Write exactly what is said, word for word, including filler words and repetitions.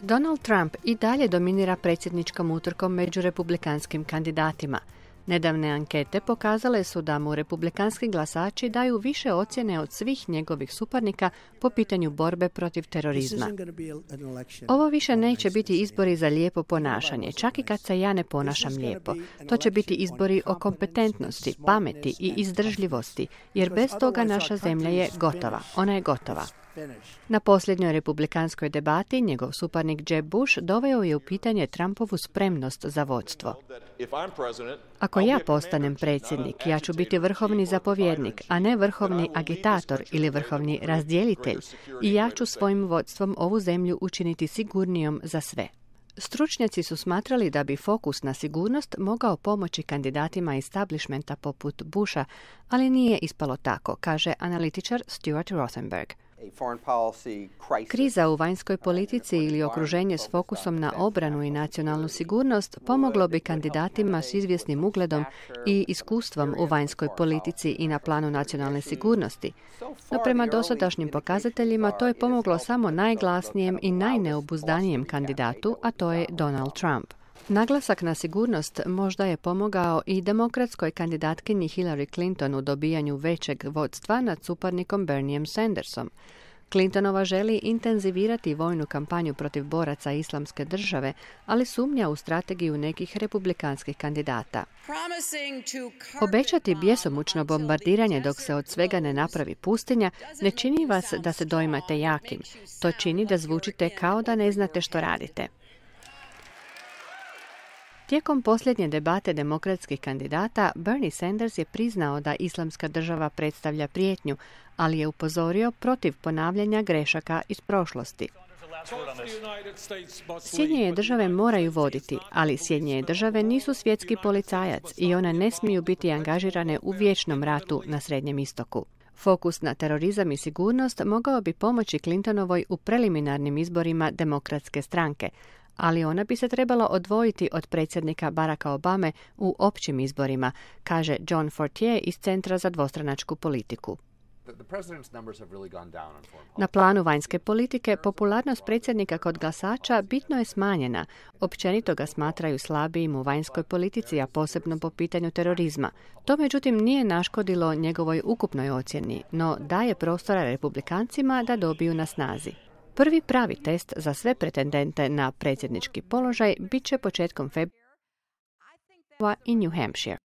Donald Trump i dalje dominira predsjedničkom utrkom među republikanskim kandidatima. Nedavne ankete pokazale su da mu republikanski glasači daju više ocjene od svih njegovih suparnika po pitanju borbe protiv terorizma. Ovo više neće biti izbori za lijepo ponašanje, čak i kad se ja ne ponašam lijepo. To će biti izbori o kompetentnosti, pameti i izdržljivosti, jer bez toga naša zemlja je gotova. Ona je gotova. Na posljednjoj republikanskoj debati njegov suparnik Jeb Bush doveo je u pitanje Trumpovu spremnost za vodstvo. Ako ja postanem predsjednik, ja ću biti vrhovni zapovjednik, a ne vrhovni agitator ili vrhovni razdjelitelj, i ja ću svojim vodstvom ovu zemlju učiniti sigurnijom za sve. Stručnjaci su smatrali da bi fokus na sigurnost mogao pomoći kandidatima establishmenta poput Busha, ali nije ispalo tako, kaže analitičar Stuart Rothenberg. Kriza u vanjskoj politici ili okruženje s fokusom na obranu i nacionalnu sigurnost pomoglo bi kandidatima s izvjesnim ugledom i iskustvom u vanjskoj politici i na planu nacionalne sigurnosti. No prema dosadašnjim pokazateljima to je pomoglo samo najglasnijem i najneobuzdanijem kandidatu, a to je Donald Trump. Naglasak na sigurnost možda je pomogao i demokratskoj kandidatkinji Hillary Clinton u dobijanju većeg vodstva nad suparnikom Bernieom Sandersom. Clintonova želi intenzivirati vojnu kampanju protiv boraca Islamske države, ali sumnja u strategiju nekih republikanskih kandidata. Obećati bjesomučno bombardiranje dok se od svega ne napravi pustinja ne čini vas da se doimate jakim. To čini da zvučite kao da ne znate što radite. Tijekom posljednje debate demokratskih kandidata, Bernie Sanders je priznao da Islamska država predstavlja prijetnju, ali je upozorio protiv ponavljanja grešaka iz prošlosti. Sjedinjene države moraju voditi, ali Sjedinjene države nisu svjetski policajac i one ne smiju biti angažirane u vječnom ratu na Srednjem istoku. Fokus na terorizam i sigurnost mogao bi pomoći Clintonovoj u preliminarnim izborima demokratske stranke, ali ona bi se trebala odvojiti od predsjednika Baracka Obame u općim izborima, kaže John Fortier iz Centra za dvostranačku politiku. Na planu vanjske politike, popularnost predsjednika kod glasača bitno je smanjena. Općenito ga smatraju slabijim u vanjskoj politici, a posebno po pitanju terorizma. To međutim nije naškodilo njegovoj ukupnoj ocjeni, no daje prostora republikancima da dobiju na snazi. Prvi pravi test za sve pretendente na predsjednički položaj bit će početkom februara i New Hampshire.